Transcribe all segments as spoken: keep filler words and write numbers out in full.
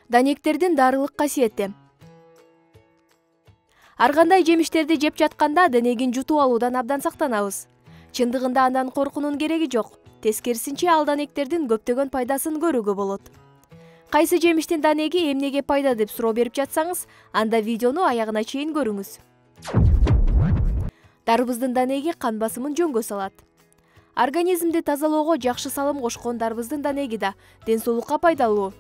Данектердин дарылык касиети. Ар кандай жемиштерди жеп жатканда денегин жутуп алуудан абдан сактанабыз. Чындыгында андан коркунун кереги жок. Тескерисинче ал данектердин көптөгөн пайдасын көрүүгө болот. Кайсы жемиштин данеги эмнеге пайда деп суроо берип жатсаңыз, анда видеону аягына чейин көрүңүз. Дарбыздын данеги кан басымын жөнгө салат. Организмди тазалоого жакшы салым кошкон дарбыздын данеги да ден соолукка пайдалуу.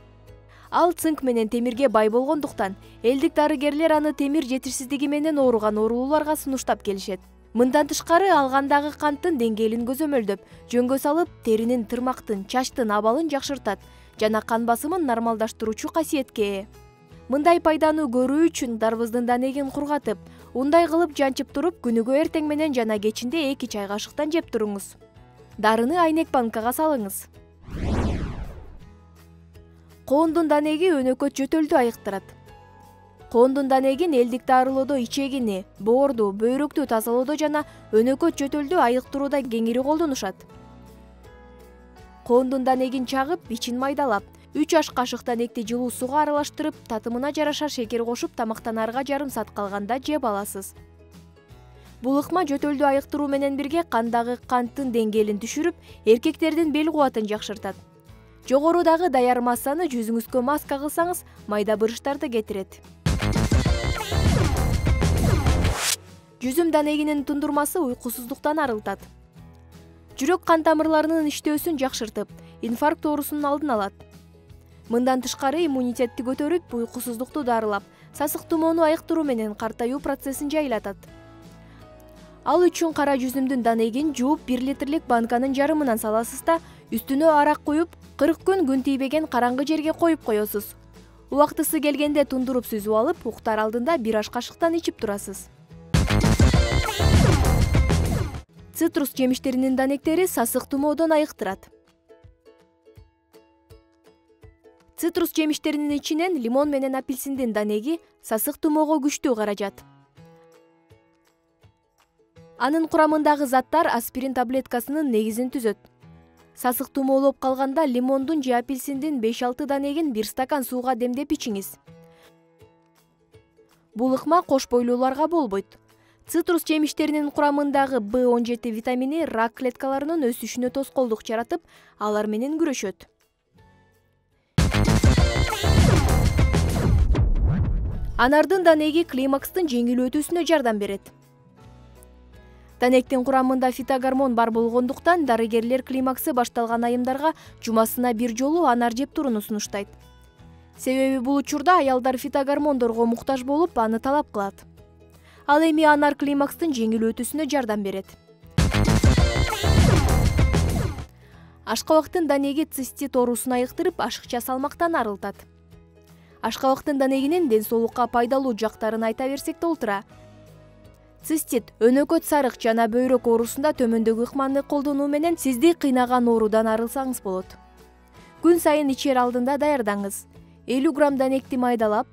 Ал цинк менен темирге бай болгондуктан элдик дарыгерлер аны темир жетишсиздиги менен ооруган оорулууларга сунуштап келишет. Мындан тышкары ал кандагы канттын деңгээлин көзөмөлдөп, жөнгө салып, теринин, тырмактын, чачтын абалын жакшыртат жана кан басымын нормалдаштыруучу касиетке ээ. Мындай пайданы көрүү үчүн дарбыздын данегин кургатып, ундай кылып жанчып туруп, күнүгө эртең менен жана кечинде эки чай кашыктан жеп туруңуз. Дарыны айнек банкага салыңыз. Коондун данеги өнөкөт жөтөлдү айыктырат. Коондун данегин элдик дарылоодо ичегини, боорду, бөйрөктү тазалоодо жана өнөкөт жөтөлдү айыктырууда кеңири колдонушат. Коондун данегин чагып, ичин майдалап, үч аш кашык данекти жылуу сууга аралаштырып, татымына жараша шекер кошуп, тамактанаарга жарым саат калганда жеп аласыз. Бул ыкма жөтөлдү айыктыруу менен бирге кандагы канттын деңгээлин түшүрүп, эркектердин бел кубатын жакшыртат. Жогорудагы даяр массаны жүзүңүзгө маска кылсаңыз, майда бырыштарды кетирет. Жүзүм данегинин тундурмасы уйкусуздуктан арылтат. Жүрөк кан тамырларынын иштөөсүн жакшыртып, инфаркт оорусунун алдын алат. Мындан тышкары иммунитетти көтөрүп, уйкусуздукту дарылап, сасык тумоону айыктыруу менен картаюу процессин жайлатат. Ал үчүн кара жүзүмдүн данегин жууп бир литрлик банканын жарымынан саласыз да, үстүнө арак куюп, кырк күн күн тийбеген караңгы жерге коюп коесуз. Убактысы келгенде тундуруп сүзүп алып, уктар алдында бир аш кашыктан ичип турасыз. Цитрус жемиштеринин данектери сасык тумоодон айыктырат. Цитрус жемиштеринин ичинен лимон менен апельсиндин данеги сасык тумоого күчтүү каражат. Анын курамындагы заттар аспирин таблеткасынын негизин түзөт. Сасык тумоолоп калганда лимондун же апельсиндин беш-алты данегин бир стакан сууга демдеп ичиңиз. Бул ыкма кош бойлууларга болбойт. Цитрус жемиштеринин курамындагы бэ он жети витамини рак клеткаларынын өсүшүнө тоскоолдук жаратып, алар менен күрөшөт. Анардын данеги климакстын жеңил өтүүсүнө жардам берет. Данектин курамында фитогормон бар болгондуктан дарыгерлер климаксы башталган айымдарга жумасына бир жолу анар жеп турууну сунуштайт. Себеби бул учурда аялдар фитогормондорго муктаж болуп, аны талап кылат. Ал эми анар климакстын жеңил өтүүсүнө жардам берет. Ашкабактын данеги цистит оорусун айыктырып, ашыкча салмактан арылтат. Ашкабактын данегинин ден соолукка пайдалуу жактарын айта берсек толтура. Цистит, өнөкөт сарык жана бөйрөк оорусунда төмөндөгү ыкманы колдонуу менен сизди кыйнаган оорудан арылсаңыз болот. Күн сайын ичер алдында даярдаңыз. элүү грамм данекти майдалап,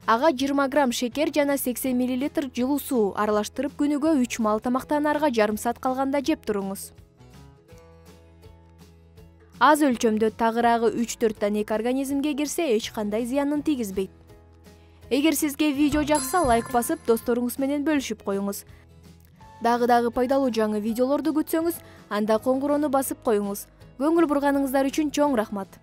ага жыйырма грамм шекер жана сексен миллилитр жылуу суу аралаштырып күнүгө үч маал тамактанаарга жарым саат калганда жеп туруңуз. Аз өлчөмдө тагыраагы үч төрт данек организмге кирсе, эч кандай зыянын тийгизбейт. Эгер сизге видео жакса, лайк басып, досторуңуз менен бөлүшүп коюңуз. Дагы-дагы пайдалуу жаңы видеолорду күтсөңүз, анда коңгурону басып коюңуз. Көңүл бурганыңыздар үчүн чоң рахмат.